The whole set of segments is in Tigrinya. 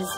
እዚ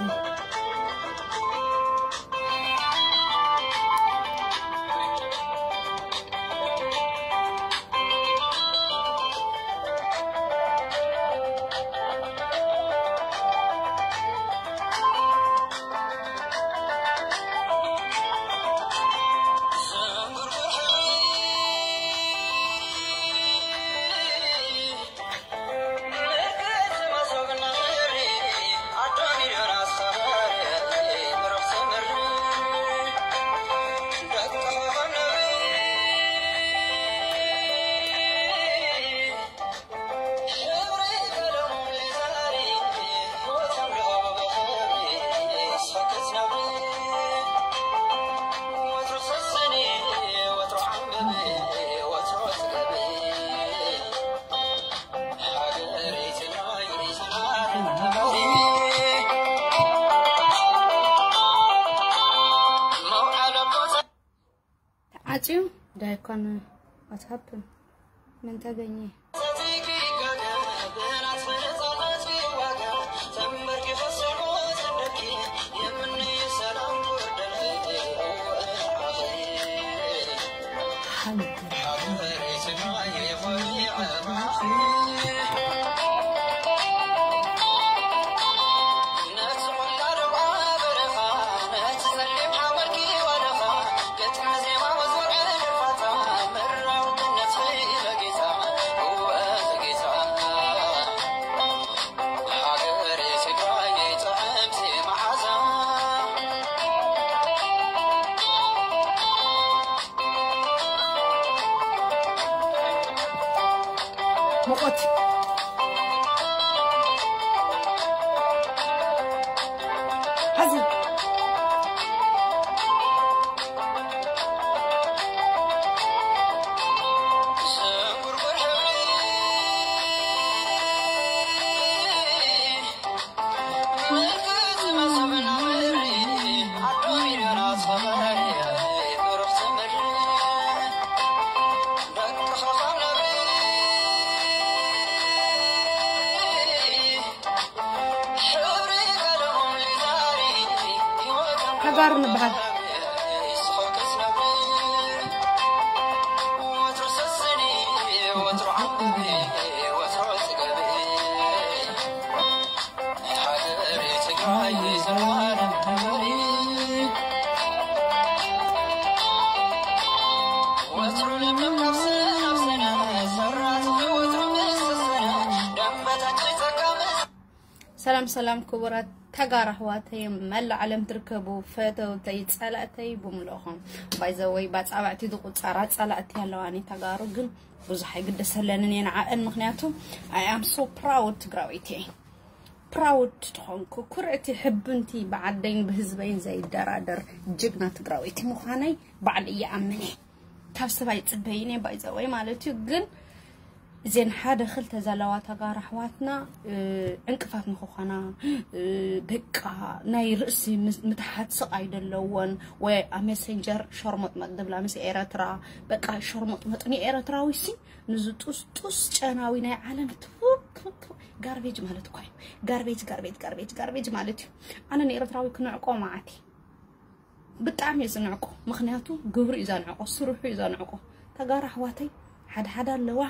ተዓፅዩ ዳይኮን። What happened? ምን ተገኘ? ሙቐት። ሐዚ። ተጋሩ ንበሃል። ሰላም ሰላም ክቡራት ተጋሩ ኣሕዋተይ፣ መላእ ዓለም ትርከቡ ፈተውተይ ጸላእተይ ብምልኦም። ባይዘወይ ባጻብዕቲ ዝቁጸራ ጸላእቲ ኣለዋኒ። ተጋሩ ግን ብዙሕ ኣይግደሰለንን እየ ንዓኣን፣ ምኽንያቱ I am so proud ትግራወይቲ እየ። ፕራውድ ዝኾንኩ ኩርዕቲ ሕብንቲ ብዓደይን ብህዝበይን ዘይደራደር ጅግና ትግራወይቲ ምዃነይ ባዕሉ እየ ኣምን እየ። ካብ ሰብ ኣይጽበይን እየ ባይዘወይ ማለት እዩ። ግን እዘን ሓደ ክልተ ዘለዋ ተጋሩ ኣሕዋትና ዕንቅፋት ንክኾና፣ በቃ ናይ ርእሲ ምትሓት ስቓይ ዘለወን፣ ወይ ኣብ ሜሴንጀር ሸርሞጥመጥ ዝብላ ምስ ኤረትራ፣ በቃ ሸርሞጥመጥ ንኤረትራዊ ሲ ንዚ ጡስ ጡስ ጨናዊ ናይ ዓለም ቱ ቱ ቱ ጋርቤጅ ማለት እኳ እዩ። ጋርቤጅ ጋርቤጅ ጋርቤጅ ጋርቤጅ ማለት እዩ። ኣነ ንኤረትራዊ ክንዕቆ መዓት እዩ። ብጣዕሚ እየ ዝንዕቆ፣ ምኽንያቱ ግብሩ እዩ ዘንዕቆ፣ ስርሑ እዩ ዘንዕቆ። ተጋሩ ኣሕዋተይ ሓደ ሓደ ኣለዋ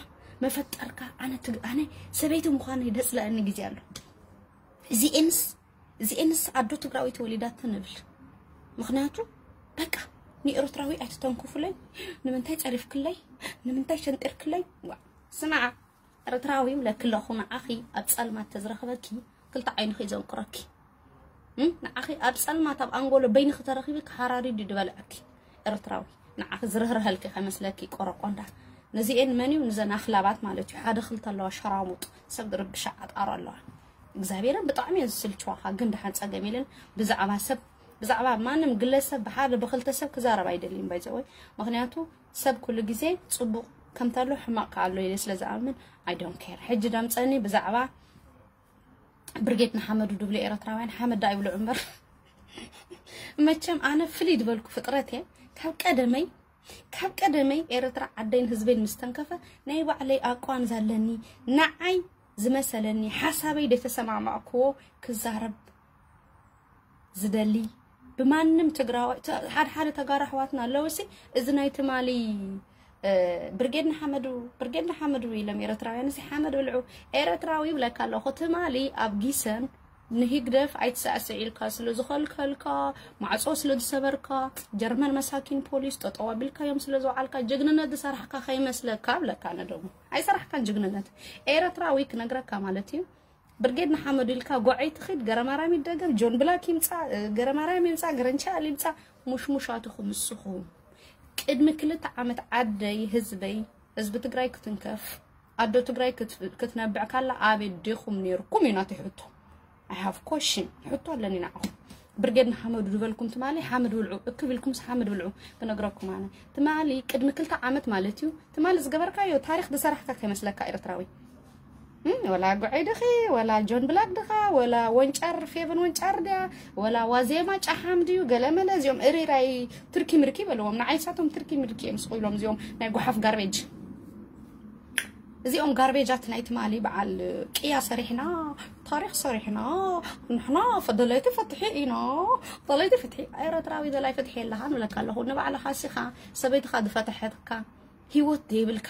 መፈጠርካ። ኣነ ትግ ኣነ ሰበይቲ ምዃነይ ደጽለኣኒ ግዜ ኣሎ። እዚኤንስ እዚኤንስ ኣዶ ትግራዊት ወሊዳተን እብል። ምኽንያቱ በቃ ንኤርትራዊ ኣይትተንኩፉለይ። ንምንታይ ጸሪፍክለይ? ንምንታይ ሸንጢርክለይ? ዋ ስማዓ፣ ኤርትራዊ ይብለኪ ኣለኹ። ንዓኺ ኣብ ጸልማት ተዝረኽበኪ ክልተ ዓይንኺ እዩ ዘንቁረኪ። እም? ንዓኺ ኣብ ጸልማት ኣብ ኣንጎሎ በይንኺ ተረኺቡ ክሃራሪድ እዩ ዝበልዐኪ። ኤርትራዊ ንዓኺ ዝርህርሀልኪ ከመስለኪ ቆረቆንዳ። ነዚኤን መን እዩ? ንዘን ኣኽላባት ማለት እዩ። ሓደ ክልተ ኣለዋ ሸራሙጥ ሰብ ዝርብሻ ዓጣሮ ኣለዋ። እግዚኣብሔርን ብጣዕሚ እየን ዝስልችዋኻ፣ ግን ደሓን ጸገም የለን። ብዛዕባ ሰብ ብዛዕባ ማንም ግለሰብ ብሓደ ብክልተ ሰብ ክዛረብ ኣይደልይን ባይዘወይ። ምኽንያቱ ሰብ ኩሉ ግዜ ጽቡቕ ከምታሎ ሕማቕ ከኣሎ ኢለ ስለ ዝኣምን I don't care። ሕጂ ደምጸኒ ብዛዕባ ብርጌድ ንሓመዱ ድብሉ ኤረትራውያን ሓመድ ዳ ይብሉ እምበር መቸም ኣነ ፍልይ ዝበልኩ ፍጥረት እየ። ካብ ቀደመይ ካብ ቀደመይ ኤረትራ ዓደይን ህዝበይን ምስ ተንከፈ ናይ ባዕለይ ኣቋም ዘለኒ ንዓይ ዝመሰለኒ ሓሳበይ ደተሰማማዕክዎ ክዛረብ ዝደሊ ብማንም ትግራዋይ ሓደ ሓደ ተጋሩ ኣሕዋትና ኣለውሲ እዚ ናይ ትማሊ ብርጌድ ንሓመዱ ብርጌድ ንሓመዱ ኢሎም ኤረትራውያን እዚ ሓመድ ብልዑ ኤረትራዊ ይብለካ ኣለኹ ትማሊ ኣብ ጊሰን ንሂግደፍ ኣይትሳዕስዕ ኢልካ ስለ ዝኸልከልካ ማዕጾ ስለ ዝሰበርካ ጀርመን መሳኪን ፖሊስ ጠጠው ኣቢልካዮም ስለ ዝወዓልካ ጅግንነት ዝሰራሕካ ከይመስለካ ብለካ ነደሙ ኣይሰራሕካን ጅግንነት ኤረትራዊ ክነግረካ ማለት እዩ ብርጌድ ንሓመዱ ኢልካ ጎዐይ ትኺድ ገረማራም ይደገም ጆን ብላክ ይምፃ ገረማራም ይምፃ ገረንቻል ይምፃ ሙሽሙሻትኹም ንስኹም ቅድሚ ክልተ ዓመት ዓደይ ህዝበይ ህዝቢ ትግራይ ክትንከፍ ኣዶ ትግራይ ክትነብዕ ካላ ኣበይ ዲኹም ነይርኩም እዩ ናተይ ሕቶ I have question ሕቶ ኣለኒ ንዓኹም ብርጌድ ንሓመዱ ዝበልኩም ትማሊ ሓመድ ብልዑ እክብ ኢልኩምስ ሓመድ ብልዑ ክነግረኩም ኣነ ትማሊ ቅድሚ ክልተ ዓመት ማለት እዩ ትማሊ ዝገበርካዮ ታሪክ ዝሰራሕካ ከይመስለካ ኤርትራዊ ወላ ጉዐይ ድኺ ወላ ጆን ብላክ ድኻ ወላ ወንጫር ፌቨን ወንጫር ድያ ወላ ዋዜማ ጫሓም ድዩ ገለመለ እዚኦም እሪራይ ትርኪ ምርኪ በልዎም ንዓይሳቶም ትርኪ ምርኪ እዮም ስቑ ኢሎም እዚኦም ናይ ጓሓፍ ጋርቤጅ እዚኦም ጋርቤጃት ናይ ትማሊ በዓል ቅያ ሰሪሕና ታሪክ ሰሪሕና ንሕና ደለይቲ ፍትሒ ኢና ደለይቲ ፍትሒ ኤረትራዊ ደላይ ፍትሒ የለኻ ንብለካ ኣለኹ ንባዕልኻ ሲኻ ሰበይትኻ ዝፈተሐትካ ሂወት ዘይብልካ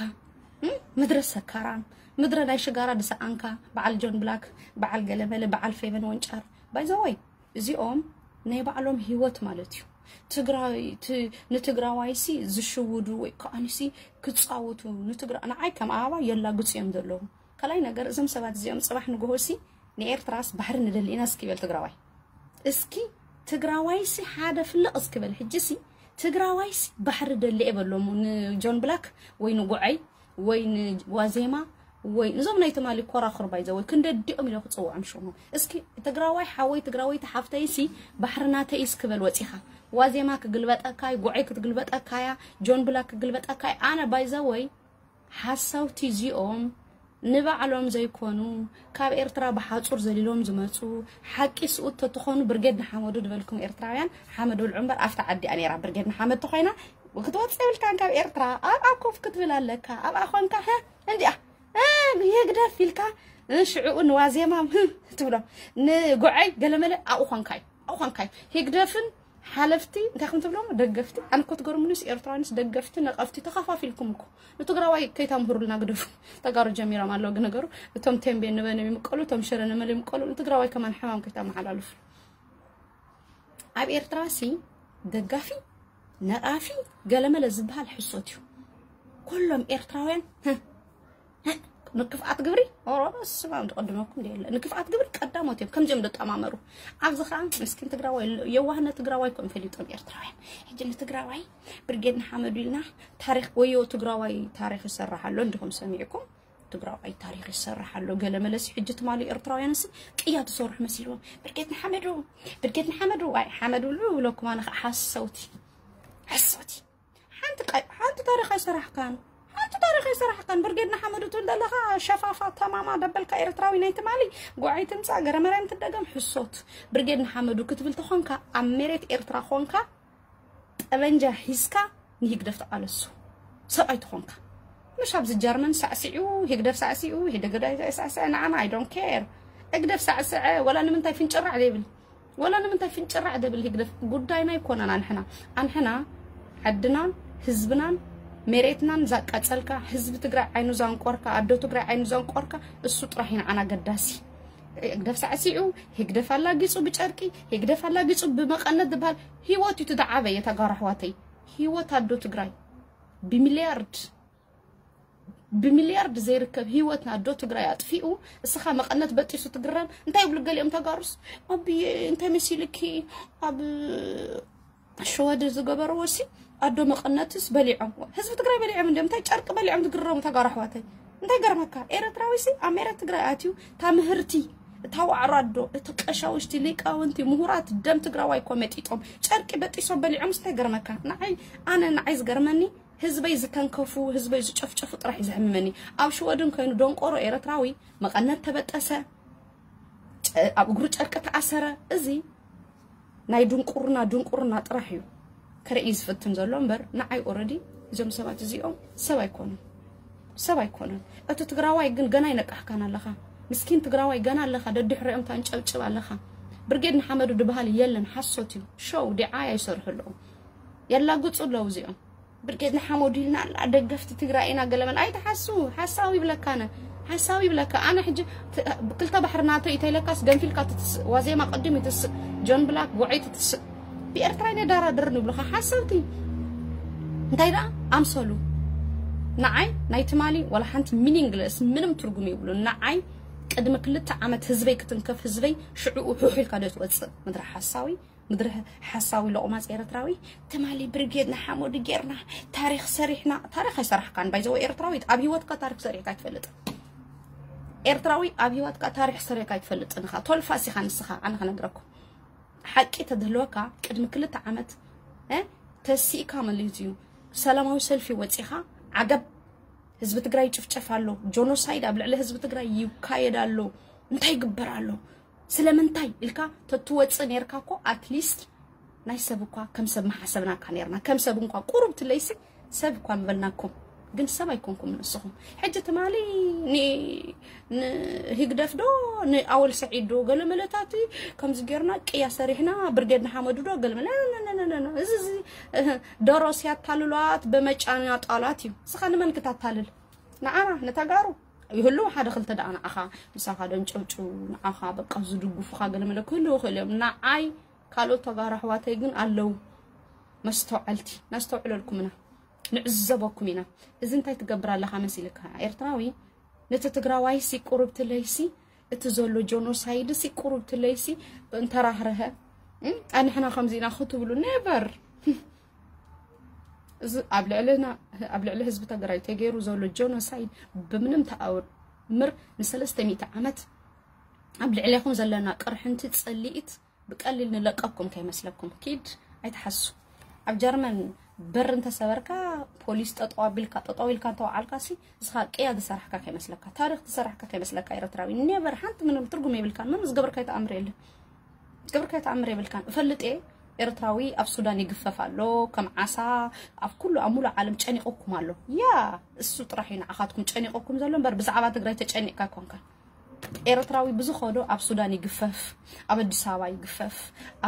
ምድረ ሰካራን ምድረ ናይ ሽጋራ ዝሰኣንካ በዓል ጆን ብላክ በዓል ገለመለ በዓል ፌቨን ወንጫር ባይዘወይ እዚኦም ናይ ባዕሎም ሂወት ማለት እዩ ትግራይ ንትግራዋይሲ ዝሽውዱ ወይ ከዓንሲ ክፃወቱ ንትግራ ንዓይ ከም ኣበባ የላግፁ እዮም ዘለዉ ካልኣይ ነገር እዞም ሰባት እዚኦም ፅባሕ ንግሆሲ ንኤርትራስ ባሕሪ ንደሊ ኢና እስኪ በል ትግራዋይ እስኪ ትግራዋይሲ ሓደ ፍልቕ እስኪ በል ሕጂሲ ትግራዋይሲ ባሕሪ ደሊ እየ በሎሙ ንጆን ብላክ ወይ ንጉዐይ ወይ ንዋዜማ ወይ እዞም ናይ ትማሊ ኮራኹር ባይዘ ወይ ክንደዲኦም ኢለ ክፅውዖም ሽሞም እስኪ ትግራዋይ ሓወይ ትግራወይቲ ሓፍተይሲ ባሕሪ ናተይ እስኪ በል ወፂኻ ዋዜማ ክግልበጠካይ ጉዐይ ክትግልበጠካያ ጆን ብላክ ክግልበጠካይ ኣነ ባይዘ ወይ ሓሳውቲ እዚኦም ንባዕሎም ዘይኮኑ ካብ ኤርትራ ብሓጹር ዘሊሎም ዝመጹ ሓቂ ስኡት ተትኾኑ ብርጌድ ንሓመዱ ዝበልኩም ኤርትራውያን ሓመድ ብልዑ እምበር ኣብታ ዓዲ እያ ነይራ ብርጌድ ንሓመድ ተኾይና ክትወጽእ የብልካን ካብ ኤርትራ ኣብኣ ኮፍ ክትብል ኣለካ ኣብኣ ኾንካ ሀ እንዲኣ እ፣ ህግደፍ ኢልካ እ፣ ሽዕኡ ንዋዜማ እ፣ ትብሎ ንጉዐይ ገለመለ ኣብኡ ኾንካ እዩ ኣብኡ ኾንካ እዩ ህግደፍን ሓለፍቲ እንታይ ከም ትብሎም ደገፍቲ ኣነ እኮ ትገርሙኒስ ኤርትራውያንስ ደገፍቲ ነቐፍቲ ተኸፋፊልኩም እኮ ንትግራዋይ ከይታምህሩልና ግደፉ ተጋሩ ጀሚሮም ኣለዉ ግን ነገሩ እቶም ቴምቤ ንበን ይምቀሉ እቶም ሽረ ንመል ይምቀሉ ንትግራዋይ ከማን ሕማም ከይታመሓላልፉ ኣብ ኤርትራ ሲ ደጋፊ ነቓፊ ገለመለ ዝበሃል ሕሶት እዩ ኩሎም ኤርትራውያን ንክፍኣት ግብሪ ኦሮሮ ስማም ዝቀድመኩም የለ ንክፍኣት ግብሪ ቀዳሞት እዮም ከምዚኦም ደጠማመሩ ኣብዚ ከዓ ምስኪን ትግራዋይ የዋህነት ትግራዋይ ከም ፈሊጦም ኤርትራውያን ሕጂ ንትግራዋይ ብርጌድ ንሓመዱ ኢልና ታሪክ ወዮ ትግራዋይ ታሪክ ይሰራሕ ኣሎ እንዲኹም ሰሚዕኩም ትግራዋይ ታሪክ ይሰራሕ ኣሎ ገለ መለሲ ሕጂ ትማሉ ኤርትራውያን ሲ ቅያ ትሰርሑ መሲልዎም ብርጌድ ንሓመዱ ብርጌድ ንሓመዱ ኣይ ሓመዱ ብሉ ብለኩም ኣነ ከዓ ሓሰውቲ ሓሰውቲ ሓንቲ ቀይ ሓንቲ ታሪኽ ኣይሰራሕካን ሓንቲ ታሪኽ ኣይሰራሕካን ብርጌድ ንሓመዱ ትብል ዘለኻ ሸፋፋ ተማማ ደበልካ ኤርትራዊ ናይ ትማሊ ጉዓይ ትምጻእ ገረመርያም ትደገም ሕሶት ብርጌድ ንሓመዱ ክትብል ተኾንካ ኣብ መሬት ኤርትራ ኾንካ ጠበንጃ ሒዝካ ንሂግደፍ ተቃለሱ ሰብኣይ ተኾንካ ምሽ ኣብዚ ጀርመን ሳዕሲዑ ሂግደፍ ሳዕሲዑ ሂደገዳ ሳዕስዐ ንዓና I don't care እግደፍ ሳዕስዐ ወላ ንምንታይ ፍንጭራዕ ዘይብል ወላ ንምንታይ ፍንጭራዕ ደብል ህግደፍ ጉዳይና ኣይኮነን ኣንሕና ኣንሕና ዓድናን ህዝብናን መሬትናን ዛቃጸልካ ህዝቢ ትግራይ ዓይኑ ዛንቆርካ ኣዶ ትግራይ ዓይኑ ዛንቆርካ እሱ ጥራሕ ይንዓና ገዳሲ ህግደፍ ሳዕሲዑ ህግደፍ ኣላጊጹ ብጨርቂ ህግደፍ ኣላጊጹ ብመቐነት ዝበሃል ህይወት እዩ ትደዓበ የተጋሩ ኣሕዋተይ ህይወት ኣዶ ትግራይ ብሚልያርድ ብሚልያርድ ዘይርከብ ህይወት ናዶ ትግራይ ኣጥፊኡ እስኻ መቐነት በጢሱ ትግረም እንታይ ይብሉ ገሊኦም ተጋሩስ ኣብዬ እንታይ መሲልኪ ኣብ ሸወደ ዝገበርዎ ሲ ኣዶ መቐነትስ በሊዖም ህዝቢ ትግራይ በሊዖም እንዲም እንታይ ጨርቂ በሊዖም ትግረሙ ተጋሩ ኣሕዋተይ እንታይ ገርመካ ኤረትራዊ ሲ ኣብ ሜረት ትግራይ ኣትዩ ታምህርቲ እታ ዋዕሮ ኣዶ እቲ ቀሻውሽቲ ሊቃውንቲ ምሁራት ደም ትግራዋይ ኮ መጢጦም ጨርቂ በጢሶም በሊዖም እንታይ ገርመካ ንዓይ ኣነ ንዓይ ዝገርመኒ ህዝበይ ዝተንከፉ ህዝበይ ዝጨፍጨፉ ጥራሕ እዩ ዘሕምመኒ ኣብ ሽወድን ኮይኑ ደንቆሮ ኤረትራዊ መቐነት ተበጠሰ ኣብ እግሩ ጨርቂ ተኣሰረ እዚ ናይ ድንቁርና ድንቁርና ጥራሕ እዩ ክርኢ ዝፍትን ዘሎ እምበር ንዓይ ኦረዲ እዞም ሰባት እዚኦም ሰብ ኣይኮኑን ሰብ ኣይኮኑን እቲ ትግራዋይ ግን ገና ይነቃሕካን ኣለኻ ምስኪን ትግራዋይ ገና ኣለኻ ደድሕሪኦም ታንጨብጭብ ኣለኻ ብርጌድ ንሓመዱ ድበሃል የለን፣ ሓሶት እዩ። ሾው ዲዓያ ይሰርሑ ኣለዉ፣ የላግጹ ኣለዉ እዚኦም። ብርጌድ ንሓመዱ ኢልና ኣላ፣ ደገፍቲ ትግራይ ኢና ገለመን። ኣይትሓሱ፣ ሓሳዊ ይብለካ ኣነ፣ ሓሳዊ ይብለካ ኣነ። ሕጂ ት- ክልተ ባሕሪ ናተይ እንተይለካስ ገንፊልካ ትትስእ፣ ዋዜማ ቅድም ይትስእ፣ ጆን ብላክ ጉዐይ ትትስእ። ብኤርትራ ይነዳራድርን ይብሉኻ ሓሰብቲ። እንታይ ደኣ ኣምሰሉ። ንዓይ ናይ ትማሊ ዋላ ሓንቲ ሚኒንግለስ፣ ምንም ትርጉም የብሉ። ንዓይ ቅድሚ ክልተ ዓመት ህዝበይ ክትንከፍ፣ ህዝበይ ሽዕኡ ሑሕ ኢልካ ዶ ትወፅእ? ምድሪ ሓሳዊ፣ ምድሪ ሓሳዊ ሎቕማፅ ኤርትራዊ። ትማሊ ብርጌድ ንሓመዱ ጌርና፣ ታሪኽ ሰሪሕና። ታሪኽ ኣይሰራሕካን ባይዘወ ኤርትራዊት፣ ኣብ ህይወትካ ታሪኽ ሰሪሕካ ኣይትፈልጥ። ኤርትራዊ ኣብ ህይወትካ ታሪኽ ሰሪሕካ ኣይትፈልጥን ኢኻ። ቶልፋስ ኢኻ ንስኻ፣ ኣነ ክነግረኩም። ሓቂ ተድህልወካ ቅድሚ ክልተ ዓመት፣ እ፣ ተሲእካ ማለት እዩ። ሰላማዊ ሰልፊ ወፂኻ፣ ዓገብ፣ ህዝቢ ትግራይ ይጭፍጨፍ ኣሎ፣ ጆኖሳይድ ኣብ ልዕሊ ህዝቢ ትግራይ ይካየድ ኣሎ፣ እንታይ ይግበር ኣሎ፣ ስለምንታይ ኢልካ ተትወፅእ ነርካ እኮ፣ ኣትሊስት ናይ ሰብ እኳ ከም ሰብ መሓሰብናካ ነርና። ከም ሰብ እንኳ ቁሩብ ትለይሲ ሰብ እኳ ምበልናኩም፣ ግን ሰብ ኣይኮንኩም ንስኹም። ሕጂ ትማሊ ን- ንህግደፍ ዶ ንኣወል ሰዒድ ዶ ገለ መለታት ከምዚ ጌርና ቅያ ሰሪሕና ብርጌድ ንሓመዱ ዶ ገለ መለ- ነ- ነ- ነ- ነ- ነ- እዚ እዚ እህ፣ ደሮስ ያታልሏት በመጫና ጣላት እዩ። እስኻ ንመን ክታታልል? ንዓና ንተጋሩ ይህልው ሓደ ክልተ ደኣ ንዓኻ ምሳኻ ደንጨብጭቡ፣ ንዓኻ በቃ ዝድግፉኻ ገለ መለ ክህልው ይኽእሉ እዮም። ንዓይ ካልኦት ተጋሩ ኣሕዋተይ ግን ኣለዉ። መስተውዓልቲ፣ ነስተውዕለልኩም ኢና፣ ንዕዘበኩም ኢና። እዚ እንታይ ትገብር ኣለኻ መሲልካ? ኤርትራዊ ነቲ ትግራዋይሲ ቁሩብ ትለይሲ፣ እቲ ዘሎ ጆኖሳይድሲ ቁሩብ ትለይሲ እንተራህረሀ፣ እም፣ ኣንሕና ከምዚ ኢና ክትብሉ ኔቨር። እዚ ኣብ ልዕልና፣ ኣብ ልዕሊ ህዝቢ ትግራይ ተገይሩ ዘሎ ጆኖሳይድ ብምንም ተኣምር ንሰለስተ ሚእቲ ዓመት ኣብ ልዕሌኹም ዘለና ቅርሕንቲ ጸሊኢት ብቀሊል ንለቀኩም ከይመስለኩም። ኪድ ኣይትሓሱ። ኣብ ጀርመን በር እንተሰበርካ ፖሊስ ጠጠው ኣቢልካ፣ ጠጠው ኢልካ እንተወዓልካ ሲ እስኻ ቅያ ዝሰራሕካ ከይመስለካ፣ ታሪኽ ዝሰራሕካ ከይመስለካ ኤርትራዊ ኔቨር ሓንቲ ምንም ትርጉም የብልካን። ምንም ዝገብርካዮ ተኣምር የለን። ዝገብርካዮ ተኣምር የብልካን። እፈልጥ እየ ኤርትራዊ ኣብ ሱዳን ይግፈፍ ኣሎ ከም ዓሳ፣ ኣብ ኩሉ ኣብ ሙሉእ ዓለም ጨኒቑኩም ኣሎ። ያ እሱ ጥራሕ እዩ ንዓኻትኩም ጨኒቑኩም ዘሎ እምበር ብዛዕባ ትግራይ ተጨኒቕካ ኣይኮንካን። ኤርትራዊ ብዝኸዶ ኣብ ሱዳን ይግፈፍ፣ ኣብ ኣዲስ ኣበባ ይግፈፍ፣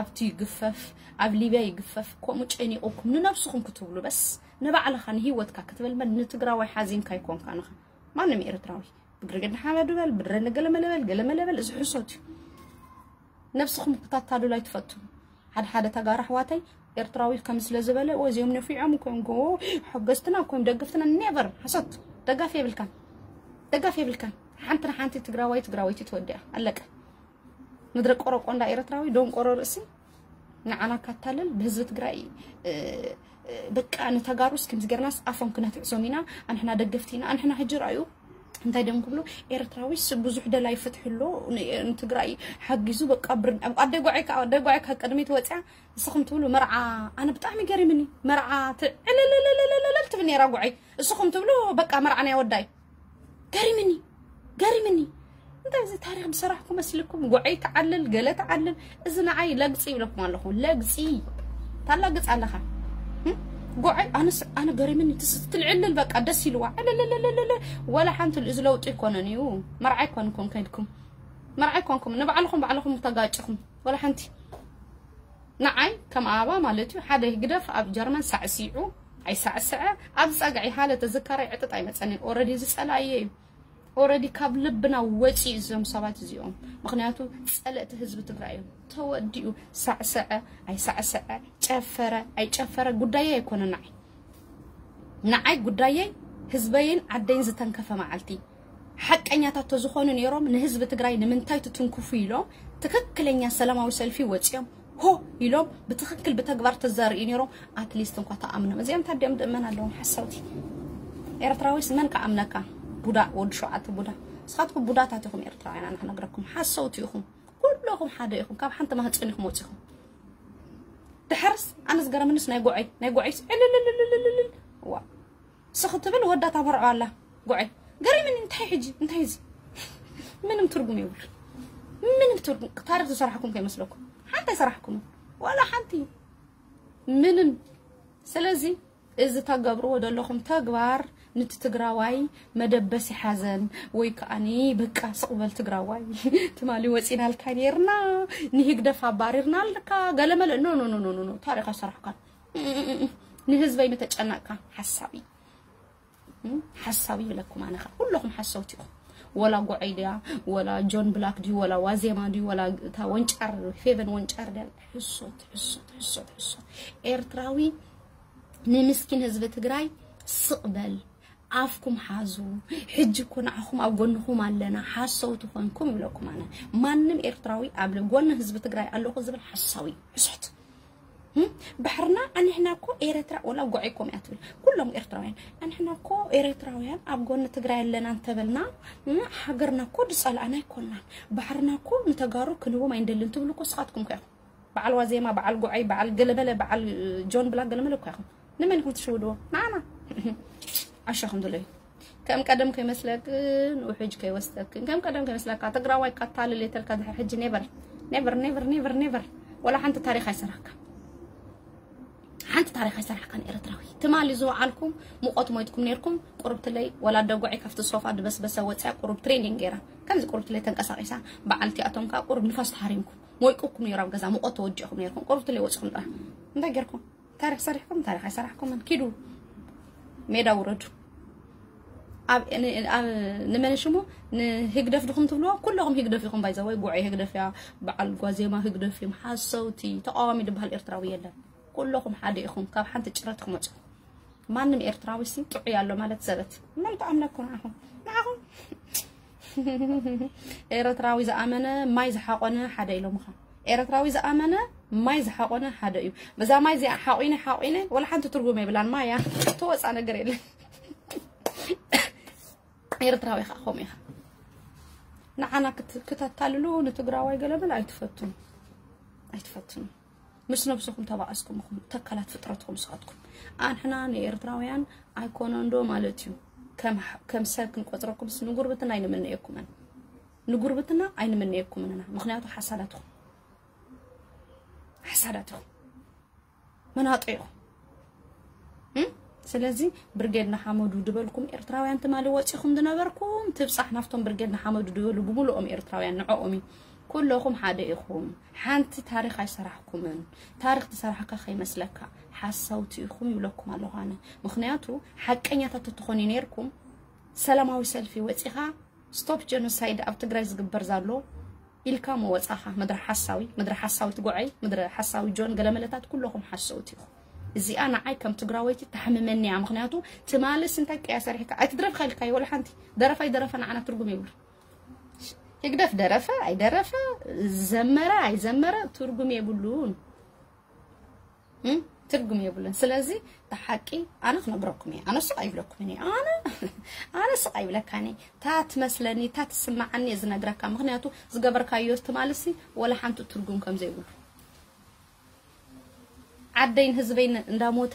ኣብቲ ይግፈፍ፣ ኣብ ሊብያ ይግፈፍ። ከምኡ ጨኒቑኩም ንነብስኹም ክትብሉ በስ ንባዕልኻ ንህይወትካ ክትብል እምበር ንትግራዋይ ሓዚንካ ኣይኮንካን ኢኻ። ማንም ኤርትራዊ ብግርግድ ንሓመዱ በል፣ ብድረ ንገለመለ በል፣ ገለመለ በል፣ እዚ ሕሶት እዩ። ነብስኹም ክታታልሉ ኣይትፈቱ። ሓደ ሓደ ተጋሩ ኣሕዋተይ ኤርትራዊ ከም ስለ ዝበለ፣ "ኦ፣ እዚኦም ነፊዖም እኮ እዮም፣ ጎ-፣ ሓገዝትና እኮ እዮም፣ ደገፍትና"፣ ኔቨር። ሓሶት። ደጋፊ የብልካን። ደጋፊ የብልካን። ሓንቲ ንሓንቲ ትግራዋይ ትግራወይቲ ትወዲኣ። ኣለቀ። ምድረ ቆረቆንዳ ኤርትራዊ፣ ደንቆሮ ርእሲ። ንዓና ካታልል ብህዝቢ ትግራይ፣ እ፣ እ፣ በቃ ንተጋሩስ ከምዚ ጌርናስ ኣፎም ክነትዕሶም ኢና፣ ኣንሕና ደገፍቲ ኢና፣ ኣንሕና ሕጂ ረኣዩ። እንታይ ድዮም ክብሉ? ኤርትራዊስ ብዙሕ ደላይ ፍትሒ ኣሎ፣ ን-፣ ንትግራይ ሓጊዙ፣ በቃ ብር-፣ ኣደ ጓዓይ ከኣ፣ ኣደ ጓዓይ ካብ ቅድሚት ወፅያ፣ ንስኹም ትብሉ መርዓ፣ ኣነ ብጣዕሚ ገሪምኒ፣ መርዓ ት-፣ ዕልልልልልልል ትብል ነይራ ጓዓይ፣ ንስኹም ትብሉ በቃ መርዓ ናይ ወዳይ። ገሪምኒ፣ ገሪምኒ። እንታይ እዚ ታሪኽ ዝሰራሕኩ መስልኩም? ጓዓይ ትዓልል፣ ገለ ትዓልል። እዚ ንዓይ ለግፂ ይብለኩም ኣለኹ፣ ለግፂ። ታላግፅ ኣለኻ። እም? ጓዓይ፣ ኣነስ፣ ኣነ ገሪምኒ፣ ትስ-፣ ትልዕልል በቃ ደስ ኢልዋ። ዕልልልልልልል። ወላ ሓንቲ እዚ ለውጢ ኣይኮነን እዩ። መርዓ ኣይኮንኩም ከይድኩም። መርዓ ኣይኮንኩም። ንባዕልኹም ባዕልኹም ተጋጭኹም። ወላ ሓንቲ። ንዓይ ከም ኣበባ ማለት እዩ፣ ሓደ ህግደፍ ኣብ ጀርመን ሳዕሲዑ ኣይሳዕስዐ፣ ኣብ ጸግዒ ሃለ ተዝካረይ ዕጥጥ ኣይመጸንን። ኦረዲ እዚ ጸላእየ እዩ። ኦረዲ ካብ ልብና ወጺኡ እዞም ሰባት እዚኦም። ምኽንያቱ ጸለእቲ ህዝቢ ትግራይ እዮም። ተወዲኡ ሳዕሰዐ ኣይሳዕሰዐ፣ ጨፈረ ኣይጨፈረ ጉዳየይ ኣይኮነን ንዓይ። ንዓይ ጉዳየይ ህዝበይን ዓደይን ዝተንከፈ መዓልቲ። ሓቀኛታት ተዝኾኑ ነይሮም ንህዝቢ ትግራይ ንምንታይ ትትንክፉ ኢሎም ትክክለኛ ሰላማዊ ሰልፊ ወፂኦም ሆ ኢሎም ብትክክል ብተግባር ተዛርእዩ ነይሮም። ኣትሊስት እንኳ ተኣምኖም። እዚኦም ታዲኦም ድእመን ኣለዎም ሓሰውቲ። ኤርትራዊስ መን ከኣምነካ? ቡዳ፣ ወዲ ሸውዓተ ቡዳ። ንስኻትኩም ቡዳታት ኢኹም ኤርትራውያን፣ ኣነ ክነግረኩም ሓሰውቲ ኢኹም። ኩለኹም ሓደ ኢኹም፣ ካብ ሓንቲ ማህፀን ኢኹም ወፂኹም። ድሓርስ ኣነ ዝገረምንስ ናይ ጉዐይ፣ ናይ ጉዐይስ ዕልልልልልልልል። ዋ። ስኽ ትብል ወዳ ታመርዖ ኣላ። ጉዐይ። ገሪምኒ እንታይ ሕጂ? እንታይ እዚ? ምንም ትርጉም የብሉ። ምንም ትርጉም። ታሪኽ ዝሰራሕኩም ከይመስለኩም። ሓንቲ ኣይሰራሕኩምን። ዋላ ሓንቲ። ምንም። ስለዚ እዚ ተገብርዎ ዘለኹም ተግባር ንቲ ትግራዋይ መደበሲ ሓዘን ወይ ከዓኒ በቃ ስቕ በል ትግራዋይ ትማሊ ወፂናልካ ነርና ንህግደፍ ኣባሪርናልካ ገለመለ no no no no no ታሪኽ ኣይሰራሕካን ንህዝበይ ምተጨነቕካ ሓሳዊ ሓሳዊ ይብለኩም ኣነኻ ኩለኹም ሓሰውቲ ኢኹም ወላ ጎዐይ ድያ ወላ ጆን ብላክ ድዩ ወላ ዋዜማ ድዩ ወላ እታ ወንጫር ፌቨን ወንጫር ድያ ሕሶት ሕሶት ሕሶት ሕሶት ኤርትራዊ ንምስኪን ህዝቢ ትግራይ ስቕ በል ኣፍኩም ሓዙ ሕጂ እኮ ንዓኹም ኣብ ጎንኹም ኣለና ሓሰውቲ ኮንኩም ይብለኩም ኣነ ማንም ኤርትራዊ ኣብ ጎኒ ህዝቢ ትግራይ ኣለኹ ዝብል ሓሳዊ ሕሶት ባሕርና ኣንሕና እኮ ኤረትራ ወላ ጎዐይኮም እያ ትብል ኩሎም ኤርትራውያን ኣንሕና እኮ ኤረትራውያን ኣብ ጎኒ ትግራይ ኣለና እንተበልና ሃገርና እኮ ድፀልኣና ኣይኮናን ባሕርና እኮ ንተጋሩ ክንቦም ኣይንደልን ትብሉ እኮ ስኻትኩም ከ በዓል ዋዜማ በዓል ጎዐይ በዓል ገለመለ በዓል ጆን ብላ ገለመለ እኮ ኢኹም ንመን ኢኹም ትሽውድዎ ንዓና ዓሻኹም ድለዩ ከም ቀደም ከይመስለክን ውሕጅ ከይወስደክን ከም ቀደም ከይመስለካ ትግራዋይ ካታልል የተልካ ድሕር ሕጂ never never never never never ወላ ሓንቲ ታሪኽ ኣይሰራሕካ ሓንቲ ታሪኽ ኣይሰራሕካን ኤርትራዊ ትማሊ ዝወዓልኩም ሙቆት ሞይትኩም ነርኩም ቁርብትለይ ወላ ደጎዒ ካብቲ ሶፋ ድበስበሰ ወፅያ ቁሩብ training ገይራ ከምዚ ቁርብትለይ ተንቀሳቂሳ በዓልቲ ኣቶም ከዓ ቁሩብ ንፋስ ተሃሪምኩም ሞይቁኩም ነይሩ ኣብ ገዛ ሙቆት ተወዲእኩም ነርኩም ቁርብትለይ ወፅኹም ጥራሕ እንታይ ገርኩም ታሪኽ ሰሪሕኩም ታሪኽ ኣይሰራሕኩምን ኪዱ ሜዳ ውረዱ ኣብ ንመን ሽሙ ንህግደፍ ድኹም ትብልዎ ኩለኹም ህግደፍ ኢኹም ባይዘወይ ጉዐይ ህግደፍ እያ በዓል ጓዜማ ህግደፍ እዮም ሓሰውቲ ተቃዋሚ ዝበሃል ኤርትራዊ የለን ኩለኹም ሓደ ኢኹም ካብ ሓንቲ ጭረት ክመፁ ማንም ኤርትራዊ ሲ ጥዑይ ኣሎ ማለት ዘበት መን ተኣምነኩም ንዓኹም ንዓኹም ኤረትራዊ ዝኣመነ ማይ ዝሓቆነ ሓደ ኢሎምኻ ኤረትራዊ ዝኣመነ ማይ ዝሓቆነ ሓደ እዩ በዛ ማይ እዚኣ ሓቂነ ሓቂነ ወላ ሓንቲ ትርጉም የብላን ማያ ተወፃ ነገር የለን ኤርትራዊ ኢኻ ከምኡ ኢኻ ንዓና ክተታልሉ ንትግራዋይ ገለመለ ኣይትፈቱን ኣይትፈቱን ምስ ነብስኹም ተባኣስኩም ኢኹም ተካላት ፍጥረትኩም ስኻትኩም ኣንሕና ንኤርትራውያን ኣይኮነን ዶ ማለት እዩ ከም ሰብ ክንቆፅረኩምስ ንጉርብትና ኣይንምነየኩምን ንጉርብትና ኣይንምነየኩምን ኢና ምክንያቱ ሓሳዳትኩም ሓሳዳትኩም መናጦ ኢኹም ስለዚ ብርጌድ ንሓመዱ ድበልኩም ኤርትራውያን ትማሊ ወፂኹም ዝነበርኩም ትብፃሕ ናፍቶም ብርጌድ ንሓመዱ ድበሉ ብምልኦም ኤርትራውያን ንዕኦም እዩ ኩለኹም ሓደ ኢኹም ሓንቲ ታሪኽ ኣይሰራሕኩምን ታሪኽ ትሰራሕካ ከይመስለካ ሓሳውቲ ኢኹም ይብለኩም ኣለኹ ኣነ ምኽንያቱ ሓቀኛታት ተትኾኑ ነርኩም ሰላማዊ ሰልፊ ወፂኻ stop genocide ኣብ ትግራይ ዝግበር ዘሎ ኢልካ ምወፃኻ ምድሪ ሓሳዊ ምድሪ ሓሳዊ ትጎዐይ ምድሪ ሓሳዊ ጆን ገለመለታት ኩለኹም ሓሰውቲ ኢኹም እዚኣ ንዓይ ከም ትግራወይቲ ተሕምመኒ እያ ምክንያቱ ትማልስ እንታይ ቀያ ሰሪሕካ ኣይትድረፍካ ኢልካዮ ወላ ሓንቲ ደረፋ ኣይደረፈ ንዓና ትርጉም የብሉ ህግደፍ ደረፈ ኣይደረፈ ዘመረ ኣይዘመረ ትርጉም የብሉን ትርጉም የብሉን ስለዚ ተሓቂ ኣነ ክነግረኩም እየ ኣነ ስቕ ኣይብለኩም እየ ኣነ ኣነ ስቕ ኣይብለካን እየ ታ ትመስለኒ ታ ትስማዓኒ እየ ዝነግረካ ምክንያቱ ዝገበርካዮ ትማልሲ ወላ ሓንቲ ትርጉም ከም ዘይብሉ ዓደይን ህዝበይን እንዳሞተ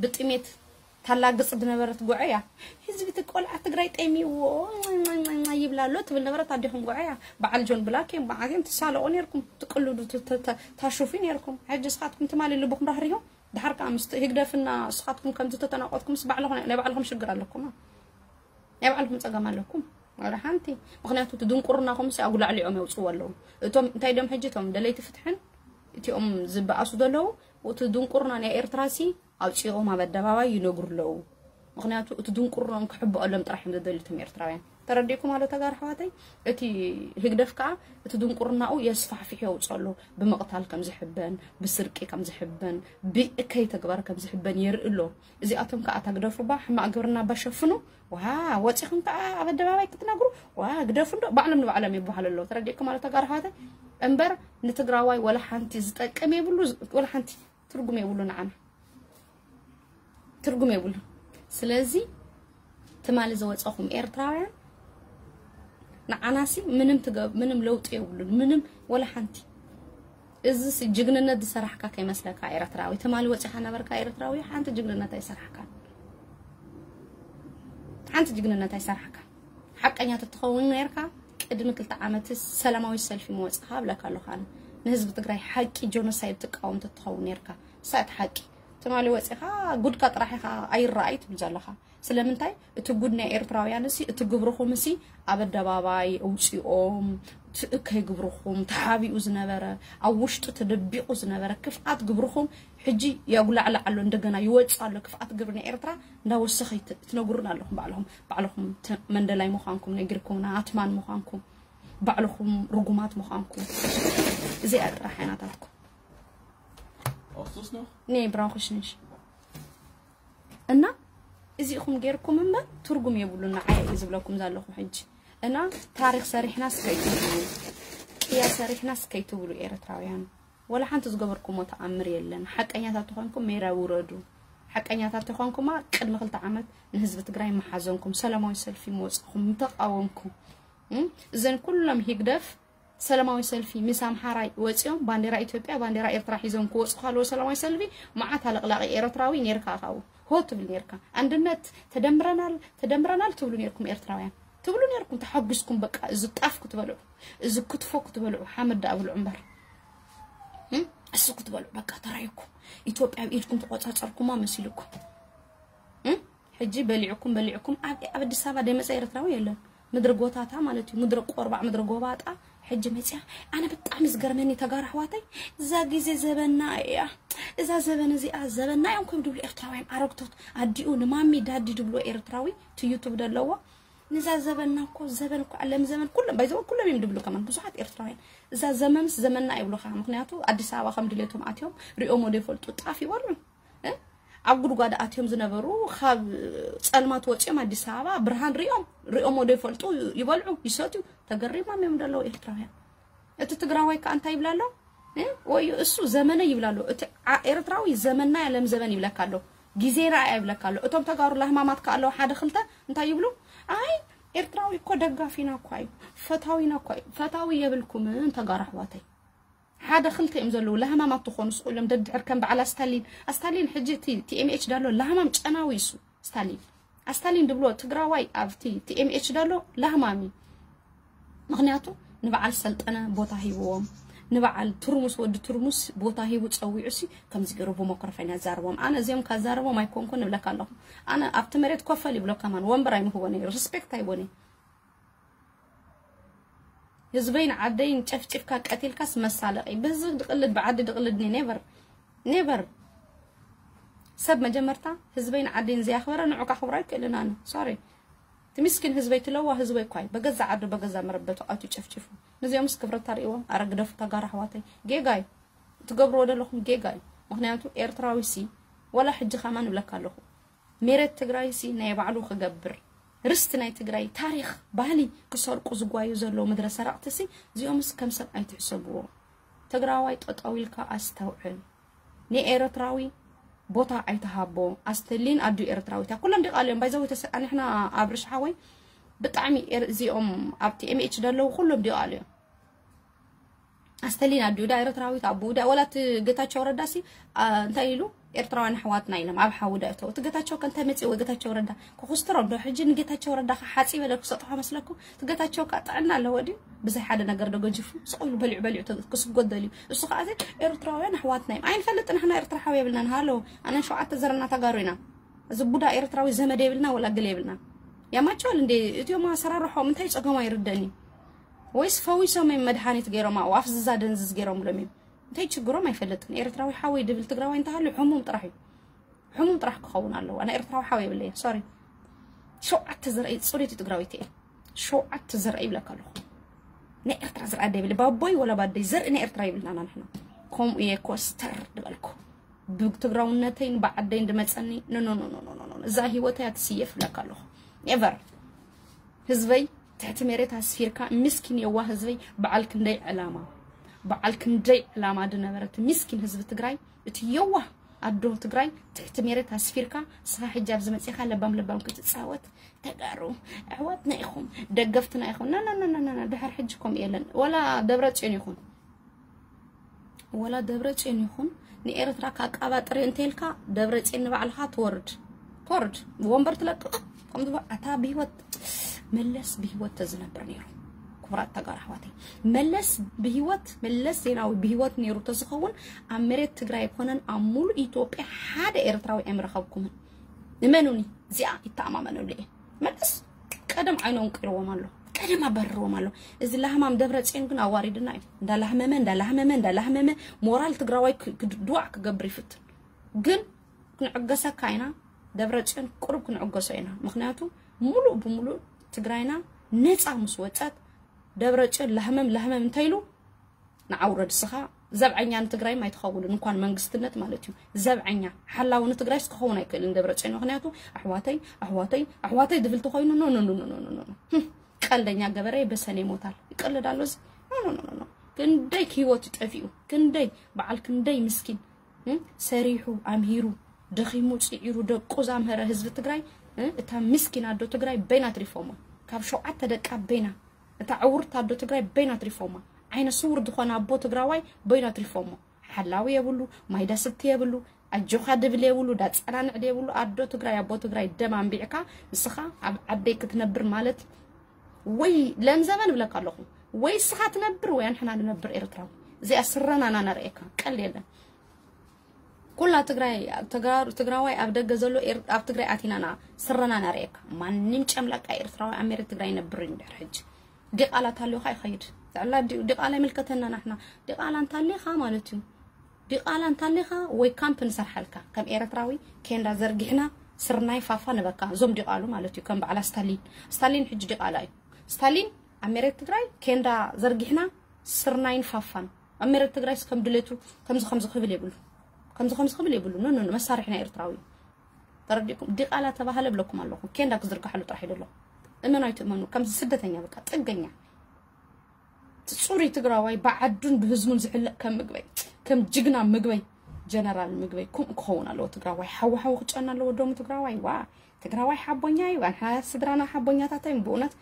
ብጥሜት ታላግጽ ዝነበረት ጉዐ እያ ህዝቢ ትቆልዓ ትግራይ ጠሚዎ ይብላ ኣሎ ትብል ነበረት ኣዴኹም ጉዐ እያ በዓል ጆን ብላክ እዮም በዓል እዮም ትሳለቑ ነርኩም ትቅልዱ ታሹፊ ነርኩም ሕጂ ስኻትኩም ትማሊ ልብኹም ራህሪሆም ድሓር ከዓ ምስ ህግደፍና ስኻትኩም ከምዚ ተተናቆትኩም ምስ ባዕልኹም ናይ ባዕልኹም ሽግር ኣለኩም ናይ ባዕልኹም ፀገም ኣለኩም ወላ ሓንቲ ምክንያቱ እቲ ድንቁርናኹም ሲ ኣጉላዕሊዖም የውፅዎ ኣለዉ እቶም እንታይ ዶም ሕጂ እቶም ደለይቲ ፍትሕን እቲኦም ዝበኣሱ ዘለዉ እቲ ድንቁርና ናይ ኤርትራ ሲ ኣውፂኦም ኣብ ኣደባባይ ይነግሩ ኣለዉ ምክንያቱ እቲ ድንቁርናኦም ክሕብኣሎም ጥራሕ እዮም ዘደልዩ እቶም ኤርትራውያን ተረዲእኩም ኣሎ ተጋር ኣሕዋተይ እቲ ህግደፍ ከዓ እቲ ድንቁርናኡ የስፋሕፊሑ የውፅኦ ኣሎ ብምቕታል ከም ዝሕበን ብስርቂ ከም ዝሕበን ብእከይ ተግባር ከም ዝሕበን የርኢ ኣሎ እዚኣቶም ከዓ እታ ግደፉ ባ ሕማቕ ግብርና ባ ሸፍኑ ዋ ወፂኹም ከዓ ኣብ ኣደባባይ ክትነግሩ ዋ ግደፉ እንዶ ባዕሎም ንባዕሎም ይበሃሉ ኣለዉ ተረዲእኩም ኣሎ ተጋር ኣሕዋተይ እምበር ንትግራዋይ ወላ ሓንቲ ዝጠቅም የብሉ ወላ ሓንቲ ትርጉም የብሉ ንዓና ትርጉም የብሉ ስለዚ ትማሊ ዝወፀኹም ኤርትራውያን ንዓናሲ ምንም ትገብ ምንም ለውጢ የብሉን ምንም ወላ ሓንቲ እዚ ጅግንነት ዝሰራሕካ ከይመስለካ ኤርትራዊ ትማሊ ወፂኻ ነበርካ ኤርትራዊ ሓንቲ ጅግንነት ኣይሰራሕካን ሓንቲ ጅግንነት ኣይሰራሕካን ሓቀኛ ተትኸውን ነርካ ቅድሚ ክልተ ዓመት ሰላማዊ ሰልፊ ምወፅኻ ብለካ ኣለኹ ኣነ ንህዝቢ ትግራይ ሓቂ ጆኖሳይድ ትቃወም ተትኸውን ነርካ ሳት ሓቂ ትማሊ ወፂኻ ጉድካ ጥራሕ ኢኻ ኣይረኣይ ትብል ዘለኻ ስለምንታይ? እቲ ጉድ ናይ ኤርትራውያን ሲ፣ እቲ ግብርኹም ሲ ኣብ ኣደባባይ ኣውፂኦም፣ እቲ እከይ ግብርኹም ተሓቢኡ ዝነበረ፣ ኣብ ውሽጡ ተደቢቑ ዝነበረ ክፍኣት ግብርኹም ሕጂ የጉላዕላዕ ኣሎ፣ እንደገና ይወፅእ ኣሎ። ክፍኣት ግብሪ ናይ ኤርትራ እንዳወሰኸ ይት-፣ ትነግሩን ኣለኹም። ባዕልኹም ባዕልኹም ተ-፣ መንደላይ ምዃንኩም ነጊርኩምና፣ ኣትማን ምዃንኩም፣ ባዕልኹም ርጉማት ምዃንኩም። እዚኣ ጥራሕ ዓይናታትኩም Hast du es noch? Nee, brauche ich nicht. እና እዚኹም ጌርኩም እምበር ትርጉም የብሉን። ንዓይ እዩ ዝብለኩም ዘለኹ ሕጂ። እና ታሪኽ ሰሪሕናስ ከይትብሉ፣ ቅያ ሰሪሕናስ ከይትብሉ ኤርትራውያን፣ ወላ ሓንቲ ዝገበርኩሞ ተኣምር የለን። ሓቀኛታት ተኾንኩም ሜዳ ውረዱ። ሓቀኛታት ተኾንኩማ ቅድሚ ክልተ ዓመት ንህዝቢ ትግራይ መሓዘንኩም፣ ሰላማዊ ሰልፊ መወፅኹም ምተቃወምኩም። እም? እዘን ኩሎም ሂግደፍ ሰላማዊ ሰልፊ ምስ ኣምሓራይ ወፂኦም ባንዴራ ኢትዮጵያ ባንዴራ ኤርትራ ሒዞም ክወፁ ካለዎ ሰላማዊ ሰልፊ መዓት ኣለቕላቂ ኤርትራዊ ኔርካ። ካብኡ ሆ ትብል ኔርካ። ኣንድነት፣ ተደምረናል፣ ተደምረናል ትብሉ ኔርኩም ኤርትራውያን። ትብሉ ኔርኩም ተሓጒስኩም። በቃ እዚ ጣፍ ክትበልዑ፣ እዚ ክትፎ ክትበልዑ፣ ሓመድ ደኣ ብልዑ እምበር። እም? እሱ ክትበልዑ በቃ ተራይኩም። ኢትዮጵያ ኣብ ኢድኩም ተቆጻጸርኩማ መሲልኩም። እም? ሕጂ በሊዕኩም በሊዕኩም ኣብ ኣብ ኣዲስ ኣበባ ደመፀ ኤርትራዊ የለን። ምድሪ ጎታታ ማለት እዩ። ምድሪ ቆርባዕ፣ ምድሪ ጎባጣ። ሕጂ መፅያ ኣነ ብጣዕሚ ዝገርመኒ ተጋሩ ኣሕዋተይ፣ እዛ ግዜ ዘበና እያ፣ እዛ ዘበን እዚኣ ዘበና እዮም ከም ድብሉ ኤርትራውያን ኣረግቶት ኣዲኡ ንማሚ ዳዲ ድብሉ ኤርትራዊ እቲ ዩቱብ ደለዎ። ንዛ ዘበና እኮ ዘበን እኮ ዓለም ዘመን ኩሎም ባይዘው ኩሎም እዮም ድብሉ ከማን ብዙሓት ኤርትራውያን እዛ ዘመንስ ዘመና ይብሉኻ። ምክንያቱ ኣዲስ ኣበባ ከም ድሌቶም ኣትዮም ሪኦም ወደ ይፈልጡ ጣፍ ይበልዑ። እ? ኣብ ጉድጓድ ኣትዮም ዝነበሩ ካብ ጸልማት ወጺኦም ኣዲስ ኣበባ ብርሃን ሪኦም ሪኦም ወደ ይፈልጡ ይበልዑ ይሰትዩ። ተገሪሞም እዮም ዘለዉ ኤርትራውያን። እቲ ትግራዋይ ከኣ እንታይ ይብላ ኣሎ? እ? ወይ እሱ ዘመነ ይብላ ኣሎ። እቲ ዓ- ኤርትራዊ ዘመና ያለም ዘበን ይብለካ ኣሎ። ግዜና እያ ይብለካ ኣሎ። እቶም ተጋሩ ላህማማት ከኣ ኣለዉ ሓደ ክልተ እንታይ ይብሉ? ኣይ ኤርትራዊ እኮ ደጋፊና እኳ እዩ፣ ፈታዊና እኳ እዩ። ፈታዊ የብልኩምን ተጋሩ ኣሕዋተይ። ሓደ ክልተ እዮም ዘለዉ ላህማማት ትኾኑ ስቕ ኢሎም ደድሕር ከም በዓል ኣስታሊን። ኣስታሊን ሕጂ እቲ ቲኤምኤች ዳሎ ላህማም ጨናዊ እሱ ስታሊን። ኣስታሊን ድብሎ ትግራዋይ ኣብቲ ቲኤምኤች ዳሎ ላህማሚ። ምክንያቱ ንበዓል ሰልጠነ ቦታ ሂብዎም፣ ንበዓል ትርሙስ ወዲ ትርሙስ ቦታ ሂቡ ጸዊዑ ሲ ከምዚ ገይሩ ብሞክሮፎን ያዛርቦም። ኣነ እዚኦም ካዛርቦም ኣይኮንኩን እብለካ ኣለኹ። ኣነ ኣብቲ መሬት ኮፈል ይብሎ ከማን ወንበር ኣይምህቦን እየ፣ ሪስፔክት ኣይቦን እየ። ህዝበይን ዓደይን ጨፍጭፍካ ቀቲልካስ መሳለቂ። ብህዝቢ ድቅልድ ብዓዲ ድቅልድኒ ኔቨር ኔቨር። ሰብ መጀመርታ ህዝበይን ዓደይን ዘያኽበረ ንዑ ካኽብሮ ኣይክእልን ኣነ። ሶሪ። እቲ ምስኪን ህዝበይ ትለዋ ህዝበይ እኳ እዩ። በገዛ ዓዱ በገዛ መረበቱ ኣትዩ ጨፍጭፉ። ነዚኦምስ ክብረት ታርእይዎም ኣረ ግደፉ ተጋሩ ኣሕዋተይ። ጌጋ እዩ። ትገብርዎ ዘለኹም ጌጋ እዩ። ምክንያቱ ኤርትራዊ ሲ ወላ ሕጂ ከማን እብለካ ኣለኹ። ሜሬት ትግራይ ሲ ናይ ባዕሉ ክገብር ርስቲ ናይ ትግራይ ታሪኽ ባህሊ ክሰርቁ ዝጓዩ ዘለዉ ምድረ ሰረቕቲ ሲ እዚኦምስ ከም ሰብ ኣይትሕሰብዎ። ትግራዋይ ጠጠው ኢልካ ኣስተውዕል። ንኤርትራዊ ቦታ ኣይትሃቦ። ኣስተሊን ኣዱ ኤርትራዊት እያ። ኩሎም ዲቓልዮም ባይዘው ንሕና ኣብ ርሽሓወይ ብጣዕሚ ኤር- እዚኦም ኣብቲ ኤምኤች ደለዉ ኩሎም ዲቓልዮም። ኣስተሊና ድዩ ዳ ኤርትራዊት ኣቦኡ ዳ ወላ እቲ ጌታቸው ረዳ ሲ ኣ፣ እንታይ ኢሉ ኤርትራውያን ኣሕዋትና ኢሎም ኣብ ሓዊ ዳ እተው እቲ ጌታቸው ከ እንታይ መጽእ ወይ ጌታቸው ረዳ ክኹስትሮም ዶ ሕጂ ንጌታቸው ረዳ ከ ሓጺ በለ ክሰጥሖ መስለኩም እቲ ጌታቸው ከ ጥዕና ኣለዎ ድዩ ብዘይ ሓደ ነገር ዶ ገጅፉ ስቕ ኢሉ በሊዑ በሊዑ ተ- ክስጎደል እዩ እሱ ከኣ ዘይ ኤርትራውያን ኣሕዋትና እዮም ኣይንፈልጥ ንሕና ኤርትራ ሓዊ የብልናን ሃሎ ኣነ ሸውዓተ ዘረና ተጋሩ ኢና እዚ ቡዳ ኤርትራዊ ዘመድ የብልና ወላ ገለ የብልና ያማቸዋል እንዴ እቲኦም ኣሰራርሖም እንታይ ጸገማ ይርደኒ ወይስ ፈዊሶም እዮም መድሓኒት ገይሮም ኣብኡ ኣፍዝዛ ደንዝዝ ገይሮምሎም እዮም እንታይ ችግሮም ኣይፈልጥን ኤርትራዊ ሓወይ ድብል ትግራዋይ እንተሃልዩ ሕሙም ጥራሕ እዩ ሕሙም ጥራሕ ክኸውን ኣለዎ ኣነ ኤርትራዊ ሓወይ የብለየ ሶሪ ሸውዓተ ዘርአይ ፅሬት ትግራዊት እየ ሸውዓተ ዘርአይ ይብለካ ኣለኹ ናይ ኤርትራ ዘርኣ ደብል ባቦይ ወላ ባደይ ዘርኢ ናይ ኤርትራ ይብልና ናንሕና ከምኡ እየ ኮስተር ድበልኩ ብትግራውነተይን ብዓደይን ድመፀኒ ኖኖኖኖኖኖ እዛ ህይወተይ ኣትስየፍ ይብለካ ኣለኹ never ህዝበይ ትሕቲ መሬት ኣስፊርካ ምስኪን የዋህ ህዝበይ በዓል ክንደይ ዕላማ በዓል ክንደይ ዕላማ ድነበረ እቲ ምስኪን ህዝቢ ትግራይ እቲ የዋህ ኣዶ ትግራይ ትሕቲ መሬት ኣስፊርካ ንስኻ ሕጂ ኣብዚ መፂኻ ለባም ለባም ክትፃወት ተጋሩ ኣሕዋትና ኢኹም ደገፍትና ኢኹም ናናናናና ድሕር ሕጂ ከምኡ የለን ወላ ደብረ ፅዮን ይኹን ወላ ደብረ ፅዮን ይኹን ንኤርትራ ካቃባጥሪ እንተልካ ደብረ ፅዮን ንባዕልኻ ትወርድ ትወርድ ወንበር ትለቅቕ ከም ዝበ ኣታ ብሂወት መለስ ብሂወት ተዝነብር ነይሩ ክቡራት ተጋሩ ኣሕዋተይ መለስ ብሂወት መለስ ዜናዊ ብሂወት ነይሩ ተዝኸውን ኣብ መሬት ትግራይ ኣይኮነን ኣብ ሙሉእ ኢትዮጵያ ሓደ ኤርትራዊ ኣይምረኸብኩምን እመኑኒ፣ እዚኣ ይተኣማመነሉ እየ። መለስ ቀደም ዓይኖም ቅርዎም ኣሎ፣ ቀደም ኣባርርዎም ኣሎ። እዚ ላህማም ደብረ ጽዮን ግን ኣዋሪድና እዩ። እንዳላህመመ እንዳላህመመ እንዳላህመመ ሞራል ትግራዋይ ክ- ክድ- ድዋዕ ክገብር ይፍትን። ግን ክንዕገሰካ ኢና። ደብረ ጽዮን ቁሩብ ክንዕገሶ ኢና። ምክንያቱ ሙሉእ ብሙሉእ ትግራይና ነፃ ምስ ወፀት ደብረ ጽዮን ላህመም ላህመም እንተይሉ ንዓውረድ እስኻ ዘብዐኛ ንትግራይ ኣይትኸውን እንኳን መንግስትነት ማለት እዩ። ዘብዐኛ ሓላዊ ንትግራይ ክኸውን ኣይክእልን ደብረ ጽዮን። ምክንያቱ ኣሕዋተይ ኣሕዋተይ ኣሕዋተይ ድብል ተኮይኑ ኖ ኖ ኖ ኖ ኖ ኖ ኖ። ህም፣ ቀልደኛ ገበሬ በሰኔ ይሞታል ይቀልድ ኣሎ እዚ። ኖ ኖ ኖ ኖ ኖ። ክንደይ ህይወት ጠፊኡ፣ ክንደይ በዓል ክንደይ ምስኪን እም፣ ሰሪሑ ኣምሂሩ ደኺሙ ጽዒሩ ደቁ ዛምሀረ ህዝቢ ትግራይ። እም፣ እታ ምስኪን ኣዶ ትግራይ በይና ትሪፎሞ። ካብ ሸውዓተ ደቃ በይና፣ እታ ዕውርት ኣዶ ትግራይ በይና ትሪፎማ። ዓይነ ስውር ዝኾነ ኣቦ ትግራዋይ በይና ትሪፎሞ። ሓላዊ የብሉ፣ ማይ ዳስቲ የብሉ፣ ኣጆኻ ድብል የብሉ፣ ዳጸናንዕ የብሉ። ኣዶ ትግራይ ኣቦ ትግራይ ደም ኣንቢዕካ ንስኻ ኣብ ዓደይ ክትነብር ማለት ወይ ለምዘበን እብለካ ኣለኹ። ወይ እስኻ ትነብር ወይ ኣንሕና ንነብር ኤርትራዊ። እዚኣ ስረናና ነርእየካ፣ ቀልድ የለን። ኩላ ትግራይ ተጋሩ ትግራዋይ ኣብ ደገ ዘሎ ኤር- ኣብ ትግራይ ኣቲናና ስረናና ርእየካ። ማንም ጨምላቃ ኤርትራዊ ኣብ መሬት ትግራይ ይነብር እዩ። እንድሕር ሕጂ ዲቃላ ታልዮካ ይኸይድ። ጥዕላ ዲ- ዲቃላ ይምልከተና ናሕና። ዲቃላ እንታሌኻ ማለት እዩ። ዲቃላ እንታሌኻ ወይ ካምፕ ንሰርሓልካ ከም ኤርትራዊ ኬንዳ ዘርጊሕና ስርናይ ፋፋ ንበካ። እዞም ዲቃሉ ማለት እዩ። ከም በዓላ ስታሊን፣ ስታሊን ሕጂ ዲቃላ እዩ። ስታሊን ኣብ መሬት ትግራይ ኬንዳ ዘርጊሕና ስርናይን ፋፋን ኣብ መሬት ትግራይስ ከም ድሌቱ ከምዚ ከምዚ ክብል የብሉ። ከምዚ ከምዚ ክብል የብሉ። ኖ ኖ ኖ፣ መሳርሒ ናይ ኤርትራዊ እዩ። ተረዲእኩም? ዲቃላ ተባህለ ብለኩም ኣለኹ። ኬንዳ ክዝርግሓሉ ጥራሕ ይደሎ። እመኑ ኣይትእመኑ፣ ከምዚ ስደተኛ በቃ ጥገኛ። ጽሩይ ትግራዋይ ብዓዱን ብህዝቡን ዝሕለቕ ከም ምግበይ፣ ከም ጅግና ምግበይ፣ ጀነራል ምግበይ ከምኡ ክኸውን ኣለዎ። ትግራዋይ ሓዊ ሓዊ ክጨና ኣለዎ። ደሙ ትግራዋይ ዋ ትግራዋይ ሓቦኛ እዩ። ኣንሓ ስድራና ሓቦኛታት እዮም። ብእውነት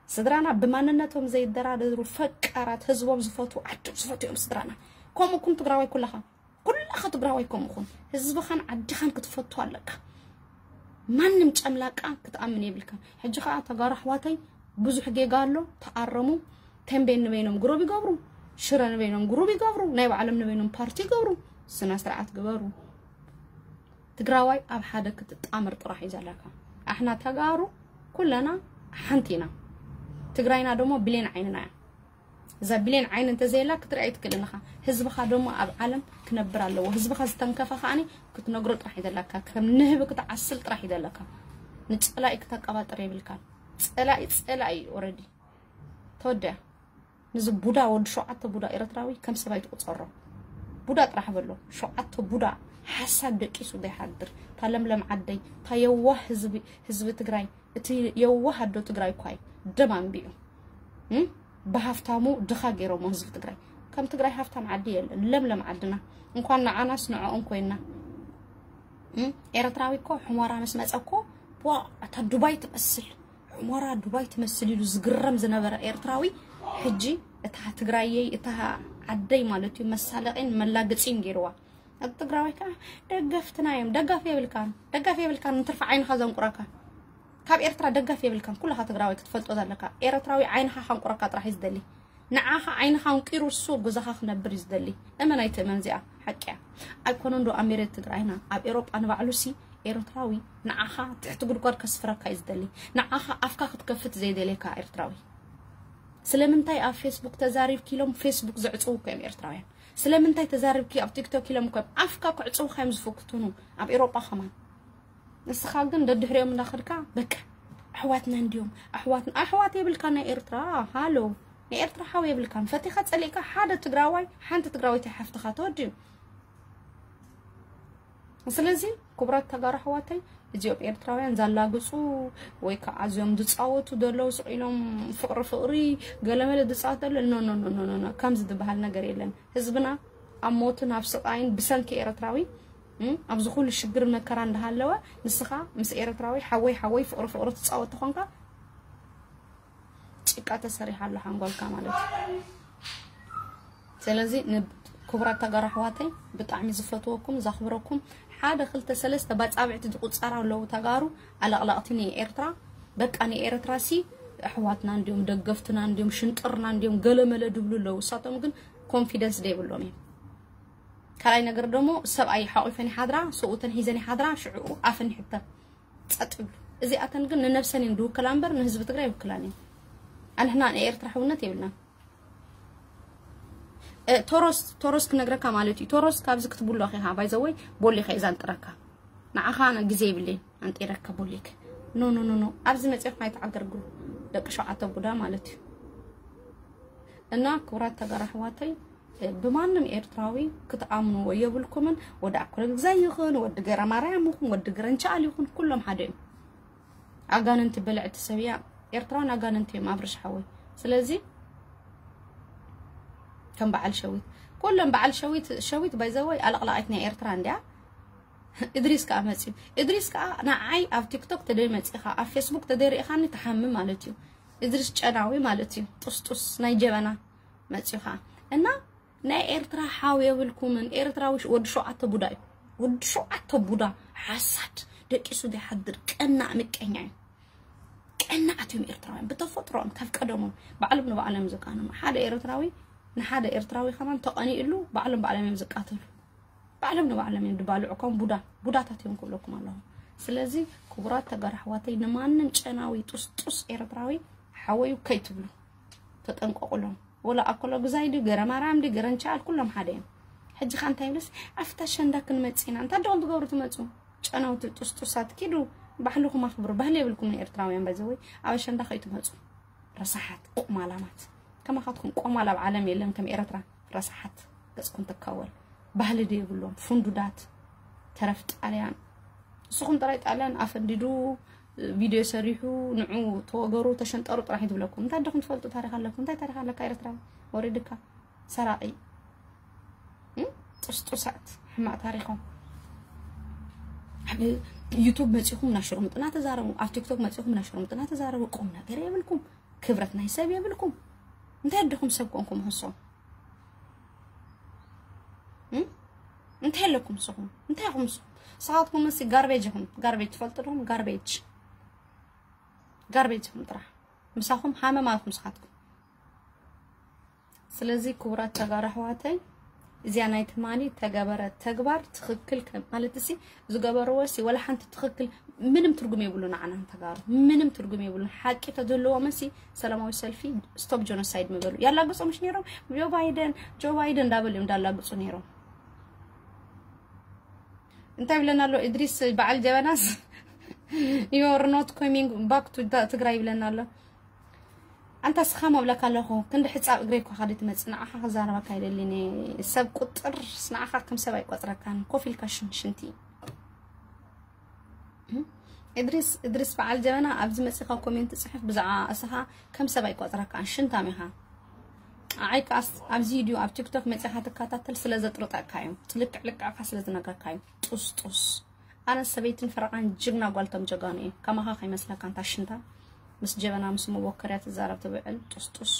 ስድራና ብማንነቶም ዘይደራደሩ ፈቃራት ህዝቦም ዝፈትዉ ዓዶም ዝፈትዉ እዮም ስድራና። ከምኡኩም ትግራዋይ ኩላኻ ኩላኻ ትግራዋይ ከምኡኹም ህዝብኻን ዓድኻን ክትፈቱ ኣለካ። ማንም ጨምላቃ ክትኣምን የብልካን። ሕጂ ኸዓ ተጋሩ ኣሕዋተይ ብዙሕ ጌጋ ኣሎ፣ ተኣረሙ። ተንቤን ንበይኖም ግሩብ ይገብሩ፣ ሽረ ንበይኖም ግሩብ ይገብሩ፣ ናይ ባዕሎም ንበይኖም ፓርቲ ይገብሩ። ስነ ስርዓት ግበሩ። ትግራዋይ ኣብ ሓደ ክትጣመር ጥራሕ እዩ ዘለካ። ኣሕና ተጋሩ ኩለና ሓንቲ ኢና። ትግራይና ደሞ ብሌን ዓይንና እያ። እዛ ብሌን ዓይን እንተዘየላ ክትርኢ ኣይትክእልን ኢኻ። ህዝብኻ ደሞ ኣብ ዓለም ክነብር ኣለዎ። ህዝብኻ ዝተንከፈ ከዓኒ ክትነግሮ ጥራሕ እዩ ዘለካ። ከም ንህቢ ክትዓስል ጥራሕ እዩ ዘለካ። ንጸላኢ ክተቀባጥር የብልካን። ጸላኢ ጸላኢ እዩ ኦረዲ። ተወዲኣ። ንዚ ቡዳ ወዲ ሸውዓተ ቡዳ ኤርትራዊ ከም ሰብ ኣይትቁጸሮ። ቡዳ ጥራሕ በሎ። ሸውዓተ ቡዳ ሓሳድ ደቂሱ ዘይሓድር። እታ ለምለም ዓደይ፣ እታ የዋህ ህዝቢ፣ ህዝቢ ትግራይ፣ እቲ የዋህ ኣዶ ትግራይ እኳ እዩ ደም ኣንቢዑ። እም? ብሃፍታሙ ድኻ ገይሮሞ ህዝቢ ትግራይ። ከም ትግራይ ሃፍታም ዓዲ የለን። ለምለም ዓድና። እንኳን ንዓናስ ንዕኦም ኮይና። እም? ኤርትራዊ እኮ ሕሞራ ምስ መጸ እኮ፣ ዋ፣ እታ ዱባይ ትመስል። ሑመራ ዱባይ ትመስል ኢሉ ዝግረም ዝነበረ ኤርትራዊ ሕጂ እታ ትግራየይ እታ ዓደይ ማለት እዩ መሳለቂን መላግፂን ገይርዋ። እቲ ትግራዋይ ከዓ ደገፍትና እዮም። ደጋፊ የብልካን፣ ደጋፊ የብልካን። ንትርፊ ዓይንኻ ዘንቁረካ ካብ ኤርትራ ደጋፊ የብልካን። ኩላኻ ትግራዋይ ክትፈልጦ ዘለካ ኤርትራዊ ዓይንኻ ከንቁረካ ጥራሕ እዩ ዝደሊ። ንዓኻ ዓይንኻ ኣንቂሩ እሱ ኣብ ገዛኻ ክነብር እዩ ዝደሊ። እመን ኣይትእመን፣ እዚኣ ሓቂ እያ። ኣይኮነን ዶ ኣብ መሬት ትግራይና ኣብ ኤሮጳ ንባዕሉሲ ኤርትራዊ ንዓኻ ትሕቲ ጉድጓድ ከስፍረካ እዩ ዝደሊ። ንዓኻ ኣፍካ ክትከፍት ዘይደልየካ ኤርትራዊ። ስለምንታይ ኣብ ፌስቡክ ተዛሪብኪ ኢሎም ፌስቡክ ዘዕፅዉ እኮ እዮም ኤርትራውያን። ስለምንታይ ተዛሪብኪ ኣብ ቲክቶክ ኢሎም እኮ እዮም ኣፍካ ክዕፅዉካ እዮም ዝፍክትኑ ኣብ ኤሮጳ ከማን። ንስኻ ግን ደድሕሪኦም እንዳኸድካ በቃ ኣሕዋትና እንዲዮም ኣሕዋትና ኣሕዋት የብልካ ናይ ኤርትራ ሃሎ ናይ ኤርትራ ሓው የብልካን ፈቲኻ ጸሊእካ ሓደ ትግራዋይ ሓንቲ ትግራወይቲ ሓፍትኻ ተወዲኡ። ስለዚ ክቡራት ተጋሩ ኣሕዋተይ እዚኦም ኤርትራውያን ዘላግጹ ወይ ከዓ እዚኦም ዝጻወቱ ዘለዉ ስቕ ኢሎም ፍቕሪ ፍቕሪ ገለመለ ዝጻወት ዘሎ ኖ ኖ ኖ ኖ ኖ ኖ ከምዚ ዝበሃል ነገር የለን። ህዝብና ኣብ ሞትን ኣብ ስቓይን ብሰንኪ ኤርትራዊ እም፣ ኣብዚ ኩሉ ሽግር መከራ እንዳሃለወ ንስኻ ምስ ኤርትራዊ ሓወይ ሓወይ ፍቕሪ ፍቕሪ ትጻወት ተኾንካ ጭቃ ተሰሪሓ ኣሎ ሓንጎልካ ማለት እዩ። ስለዚ ንክቡራት ተጋሩ ኣሕዋተይ ብጣዕሚ ዝፈትወኩም ዘኽብረኩም ሓደ ክልተ ሰለስተ ባጻብዕቲ ዝቁጸራ ኣለዉ ተጋሩ ኣለቕለቕቲ ንኤርትራ በቃ ንኤርትራ ሲ ኣሕዋትና እንዲዮም ደገፍትና እንዲዮም ሽንጥርና እንዲዮም ገለመለ ድብሉ ኣለዉ። እሳቶም ግን ኮንፊደንስ ደይብሎም እዮም። ካልኣይ ነገር ደሞ ሰብኣይ ሓቂፈን ይሓድራ፣ ሰብኡተን ሒዘን ይሓድራ፣ ሽዕኡ ኣፈን ይሕተም። ጸጥ ይብሉ። እዚኣተን ግን ንነብሰን እየን ዝውክላ እምበር ንህዝቢ ትግራይ ይውክላን እየን። ኣንሕና ንኤርትራ ሕውነት የብልናን። እ፣ ቶሮስ ቶሮስ ክነግረካ ማለት እዩ። ቶሮስ ካብዚ ክትብሎ ኢኻ ባይዘወይ ቦሊኻ እየ ዛንጥረካ። ንዓኻ ኣነ ግዜ ይብለይን ኣንጢረካ ቦሊክ። ኖ ኖ ኖ ኖ ኣብዚ መጽሔት ኣይተዓገርግሩ ደቂ ሸውዓተ ቡዳ ማለት እዩ። እና ክቡራት ተጋሩ ኣሕዋተይ፣ እ፣ ብማንም ኤርትራዊ ክትኣምንዎ የብልኩምን። ወዲ ኣኮለ ግዛይ ይኹን ወዲ ገረ ማርያም ይኹን ወዲ ግረንቻል ይኹን ኩሎም ሓደ እዮም። ኣጋንንቲ በልዕቲ ሰብ እያ። ኤርትራውን ኣጋንንቲ እዮም ኣብርሽ ሓወይ። ስለዚ ከም በዓል ሸዊት ኩሎም በዓል ሸዊት ሸዊት ባይዘወይ ኣለቕላቂት ናይ ኤርትራ እንዲያ። እድሪስ ከዓ መፅዩ። እድሪስ ከዓ ንዓይ ኣብ ቲክቶክ ተደይ መፂኻ ኣብ ፌስቡክ ተደይ ርኢኻኒ ትሓሚ ማለት እዩ። እድሪስ ጨናዊ ማለት እዩ። ጡስጡስ ናይ ጀበና መፅዩ ከዓ እና ናይ ኤርትራ ሓው የብልኩምን። ኤርትራዊ ሽ- ወዲ ሸውዓተ ቡዳ እዩ። ወዲ ሸውዓተ ቡዳ ሓሳድ ደቂሱ ዘይሓድር ቀናእ ምቀኛ እዩ። ቀናኣት እዮም ኤርትራውያን ብተፈጥሮም ካብ ቀደሞም ባዕሎም ንባዕሎም ዝቃነሙ። ሓደ ኤርትራዊ ንሓደ ኤርትራዊ ከማን ተቐኒእሉ ባዕሎም ባዕሎም እዮም ዝቃተሉ። ባዕሎም ንባዕሎም እዮም ድባልዑ ከም ቡዳ ቡዳታት እዮም ክብለኩም ኣለኹ። ስለዚ ክቡራት ተጋሩ ኣሕዋተይ ንማንም ጨናዊ ጡስጡስ ኤርትራዊ ሓወዩ ከይትብሉ ተጠንቀቁሎም። ወላ ኣኮሎ ግዛይ ድዩ ገረ ማርያም ድዩ ገረንቻል ኩሎም ሓደ እዮም። ሕጂ ካ እንታይ ይብልስ ኣብታ ሸንዳ ክንመጽእ ኢና እንታይ ደኹም ትገብሩ ትመጹ? ጨናውቲ ጡስጡሳት ኪዱ ባሕልኹም ኣኽብሩ። ባህሊ የብልኩምን ኤርትራውያን ባይዘወይ ኣብ ኣሸንዳ ከይትመጹ። ረሳሓት ቆማላማት ከማኻትኩም ቆማል ኣብ ዓለም የለን ከም ኤርትራ። ረሳሓት ገጽኩም ትካወል። ባህሊ ዶ የብሎም ፉንዱዳት ተረፍ ጣልያን። ንስኹም ጥራይ ጣልያን ኣፈንዲዱ ቪድዮ ሰሪሑ ንዑ ተወገሩ ተሸንጠሩ ጥራሕ እዩ ትብለኩም። እንታይ ደኹም ትፈልጡ ታሪክ ኣለኩም? እንታይ ታሪክ ኣለካ ኤርትራዊ? ወሪድካ ሰራቂ እም? ጥስጡሳት ሕማቅ ታሪኮም ኣብ ዩቱብ መጺኹም ናሽሩምጥና ተዛረቡ፣ ኣብ ቲክቶክ መጺኹም ናሽሩምጥና ተዛረቡ። ቁም ነገር የብልኩም፣ ክብረት ናይ ሰብ የብልኩም። እንታይ ደኹም ሰብ ኮንኩም ንሶም እም? እንታይ ኣለኩም ንስኹም? እንታይ ኢኹም ንስኹም? ንስኻትኩም ምስ ጋርቤጅ ኢኹም። ጋርቤጅ ትፈልጡ ዶኹም? ጋርቤጅ ጋርቤጅ ኢኹም ጥራሕ። ምሳኹም ሃመማ ኢኹም ንስኻትኩም። ስለዚ ክቡራት ተጋሩ ኣሕዋተይ እዚኣ ናይ ትማሊ ተገበረ ተግባር ትኽክል ከ- ማለት ሲ ዝገበርዎ ሲ ወላ ሓንቲ ትኽክል ምንም ትርጉም የብሉ ንዓና ተጋሩ ምንም ትርጉም የብሉ። ሓቂ ተዝህልዎም ሲ ሰላማዊ ሰልፊ ስቶፕ ጀኖሳይድ ምበሉ ያላግጹ ምሽ ነይሮም። ጆ ባይደን ጆ ባይደን እንዳበሉ እዮም እንዳላግጹ ነይሮም። እንታይ ይብለና ኣሎ እድሪስ በዓል ጀበናስ? You are not coming back to ትግራይ ይብለና ኣሎ። ኣንታ ስኻ መብለካ ኣለኹ ክንዲ ሕፃብ እግረይ እኳ ካዲ ትመፅእ ንዓኻ ክዛረበካ ይደሊኒ። ሰብ ቁጥር ንዓኻ ከም ሰብ ኣይቆፅረካን ኮፍ ኢልካ ሽንሽንቲ። እድሪስ እድሪስ በዓል ጀበና ኣብዚ መፂኻ ኮሜንት ፅሕፍ ብዛዕባ እስኻ ከም ሰብ ኣይቆፅረካን ሽንታም ኢኻ። ኣይ ከኣስ ኣብዚ ቪድዮ ኣብ ቲክቶክ መፂኻ ትከታተል ስለ ዘጥርጠካ እዩ። ልክዕ ልክዕካ ስለ ዝነግረካ እዩ። ጡስጡስ ኣነ ሰበይትን ፈረቓን ጅግና ጓልቶም ጀጋኑ እዩ። ከማኻ ከይመስለካ እንታ ሽንታ ምስ ጀበና ምስ መቦከርያ ትዛረብ ትብዕል ጡስጡስ።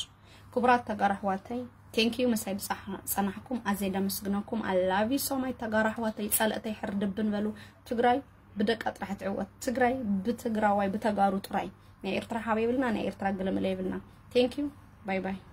ክቡራት ተጋሩ ኣሕዋተይ thank you ምሳይ ብፀናሕኩም ኣዘይ ደመስግነኩም። I love you so much ተጋሩ ኣሕዋተይ ፀለእተይ ሕርድብን በሉ። ትግራይ ብደቃ ጥራሕ ትዕወት። ትግራይ ብትግራዋይ ብተጋሩ ጥራይ። ናይ ኤርትራ ሓብ የብልና ናይ ኤርትራ ግልምለ የብልና። Thank you bye bye።